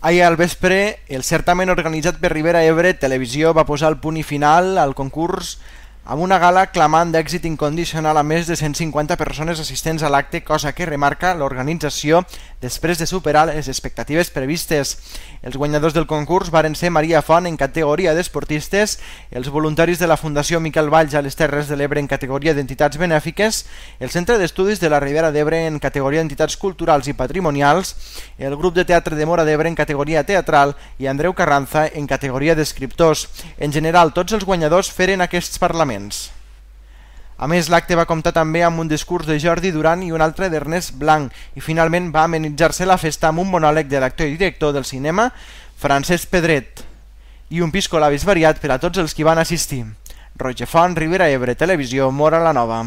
Ahir al vespre, el certamen organitzat per Ribera Ebre Televisió va posar el punt i final al concurs amb una gala clamant d'èxit incondicional a més de 150 persones assistents a l'acte, cosa que remarca l'organització després de superar les expectatives previstes. Els guanyadors del concurs varen ser Maria Font en categoria d'esportistes, els voluntaris de la Fundació Miquel Valls a les Terres de l'Ebre en categoria d'entitats benèfiques, el Centre d'Estudis de la Ribera d'Ebre en categoria d'entitats culturals i patrimonials, el grup de teatre de Móra d'Ebre en categoria teatral i Andreu Carranza en categoria d'escriptors. En general, tots els guanyadors feren aquests parlaments. A més, l'acte va comptar també amb un discurs de Jordi Duran i un altre d'Ernest Blanc i finalment va amenitzar-se la festa amb un monòleg de l'actor i director del cinema Francesc Pedret i un piscolabis variat per a tots els qui van assistir. Roger Font, Ribera Ebre Televisió, Móra la Nova.